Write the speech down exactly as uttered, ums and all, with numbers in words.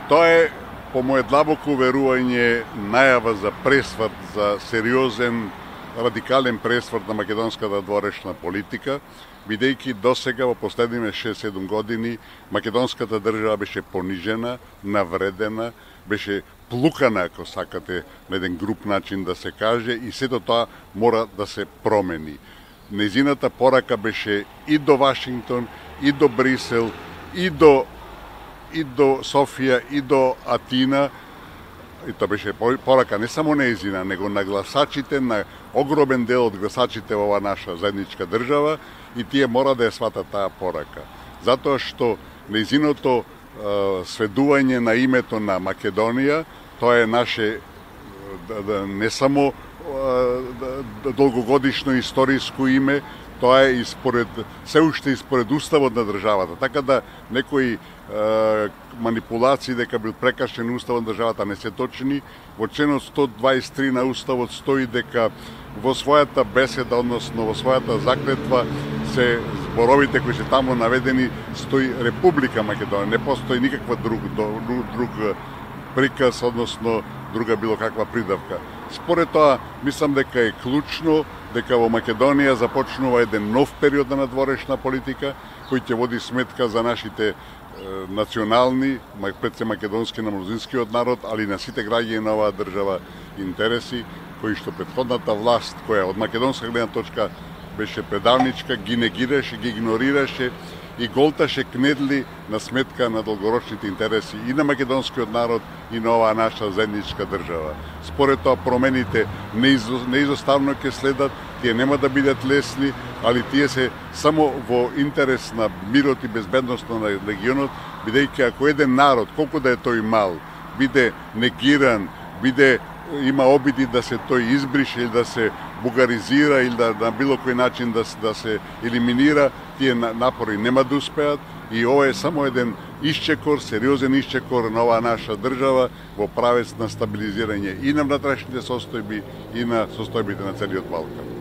Тоа е, по моје длабоко уверување, најава за пресврт, за сериозен, радикален пресврт на македонската дворешна политика, бидејќи досега во последниве шест-седум години македонската држава беше понижена, навредена, беше плукана, ако сакате, на еден груб начин да се каже, и сето тоа мора да се промени. Незината порака беше и до Вашингтон, и до Брисел, и до и до Софија, и до Атина, и тоа беше порака не само неизина, него на гласачите, на огромен дел од гласачите во оваа наша заедничка држава, и тие мора да ја сватат таа порака. Затоа што неизиното е, сведување на името на Македонија, тоа е наше не само е, долгогодишно историско име, тоа е испоред, се уште испоред уставот на државата. Така да некои е, манипулации дека бил прекршен уставот на државата не се точни. Во членот сто дваесет и три на уставот стои дека во својата беседа, односно во својата заклетва, се зборовите кои се таму наведени, стои Република Македонија. Не постои никаква друг, друг приказ, односно друга било каква придавка. Според тоа, мислам дека е клучно дека во Македонија започнува еден нов период на надворешна политика, кој ќе води сметка за нашите е, национални, пред се македонски на мнозинскиот народ, али на сите граѓани на оваа држава интереси, кои што претходната власт, која од македонска гледна точка беше предавничка, ги негираше, ги игнорираше и голташе кнедли на сметка на долгорочните интереси и на македонскиот народ и на оваа наша заедничка држава. Според тоа промените неизоставно ќе следат, тие нема да бидат лесни, али тие се само во интерес на мирот и безбедноста на регионот, бидејќи ако еден народ, колку да е тој мал, биде негиран, биде има обиди да се тој избрише или да се бугаризира или да на било кој начин да, да се елиминира, тие напори нема да успеат и ова е само еден исчекор, сериозен исчекор на оваа наша држава во правец на стабилизирање и на внатрешните состојби и на состојбите на целиот Балкан.